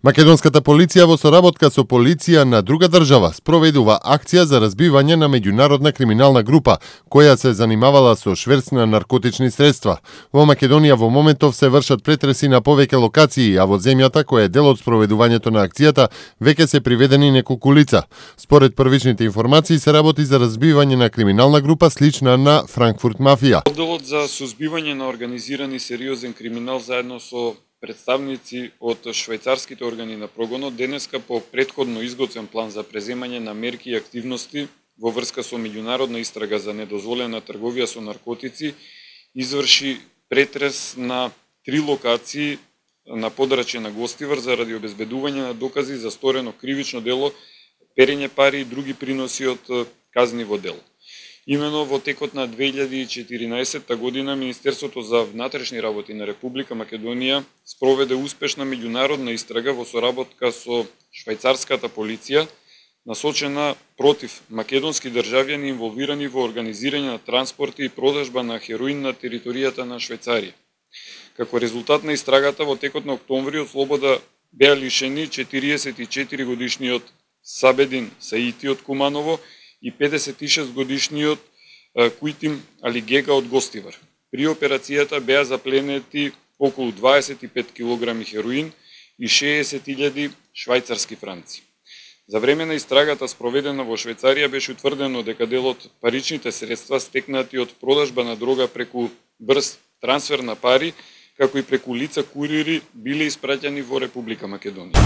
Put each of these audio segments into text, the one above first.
Македонската полиција во соработка со полиција на друга држава спроведува акција за разбивање на меѓународна криминална група која се занимавала со шверц на наркотични средства. Во Македонија во моментов се вршат претреси на повеќе локации, а во земјата која е дел од спроведувањето на акцијата веќе се приведени неколку лица. Според првичните информации се работи за разбивање на криминална група слична на Франкфурт мафија. Одделот за сузбивање на организирани сериозен криминал заедно со представници од швајцарските органи на прогонот денеска по претходно изготвен план за преземање на мерки и активности во врска со меѓународна истрага за недозволена трговија со наркотици изврши претрес на 3 локации на подрачје на Гостивар заради обезбедување на докази за сторено кривично дело, перење пари и други приноси од казниво дело. Имено во текот на 2014 година Министерството за внатрешни работи на Република Македонија спроведе успешна меѓународна истрага во соработка со швајцарската полиција насочена против македонски државјани инволвирани во организирање на транспорти и продажба на хероин на територијата на Швајцарија. Како резултат на истрагата во текот на октомври од слобода беа лишени 44 годишниот Сабедин Саити од Куманово и 56 годишниот Куитим Алигега од Гостивар. При операцијата беа запленети околу 25 килограми хероин и 60.000 швајцарски франци. За време на истрагата спроведена во Швајцарија беше утврдено дека дел од паричните средства стекнати од продажба на дрога преку брз трансфер на пари, како и преку лица курири биле испраќани во Република Македонија.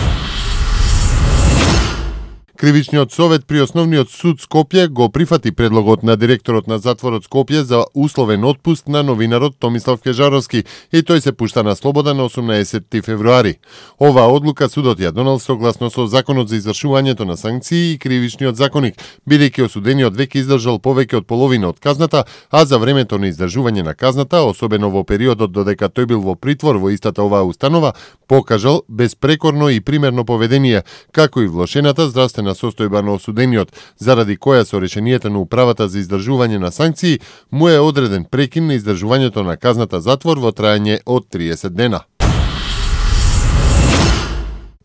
Кривичниот совет при Основниот суд Скопје го прифати предлогот на директорот на затворот Скопје за условен отпуст на новинарот Томислав Кежаровски и тој се пушта на слобода на 18 февруари. Оваа одлука судот ја донел согласно со Законот за извршувањето на санкции и Кривичниот законник, бидејќи осудениот веќе издржал повеќе од половина од казната, а за времето на издржување на казната, особено во периодот додека тој бил во притвор во истата оваа установа, покажал безпрекорно и примерно поведение, како и влошената здравствена состојба на осудениот, заради која со решението на управата за издржување на санкции му е одреден прекин на издржувањето на казната затвор во трајање од 30 дена.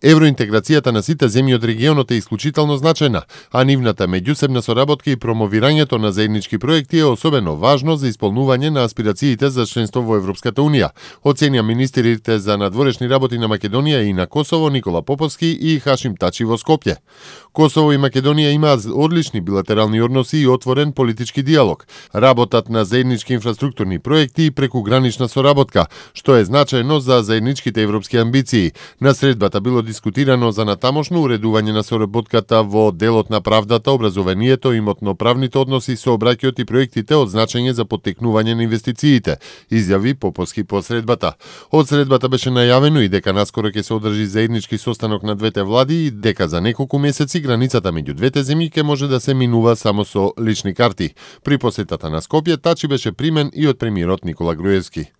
Евроинтеграцијата на сите земји од регионот е исклучително значајна, а нивната меѓусебна соработка и промовирањето на заеднички проекти е особено важно за исполнување на аспирациите за членство во Европската унија, оценија министрите за надворешни работи на Македонија и на Косово Никола Поповски и Хашим Тачи во Скопје. Косово и Македонија имаат одлични билатерални односи и отворен политички диалог. Работат на заеднички инфраструктурни проекти и прекугранична соработка, што е значајно за заедничките европски амбиции. На средбата било дискутирано за натамошно уредување на соработката во делот на правдата, образованието, имотно-правните односи, сообраќајот и проектите од значење за поттекнување на инвестициите, изјави Поповски по средбата. Од средбата беше најавено и дека наскоро ќе се одржи заеднички состанок на двете влади и дека за неколку месеци границата меѓу двете земји ќе може да се минува само со лични карти. При посетата на Скопје, Тачи беше примен и од премиерот Никола Груевски.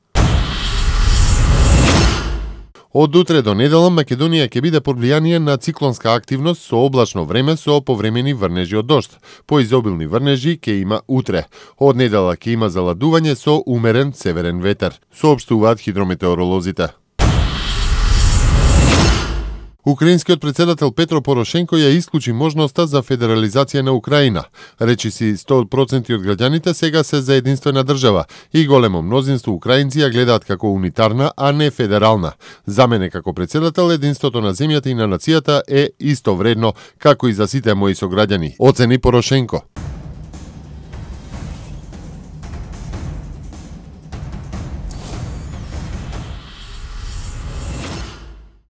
Од утре до недела Македонија ќе биде под влијание на циклонска активност со облачно време со повремени врнежи од дожд. Поизобилни врнежи ќе има утре. Од недела ќе има заладување со умерен северен ветер, соопштуваат хидрометеоролозите. Украинскиот председател Петро Порошенко ја исклучи можноста за федерализација на Украина. Речиси 100% од граѓаните сега се за единствена држава и големо мнозинство украинци ја гледаат како унитарна, а не федерална. За мене како председател единството на земјата и на нацијата е исто вредно како и за сите мои сограѓани, оцени Порошенко.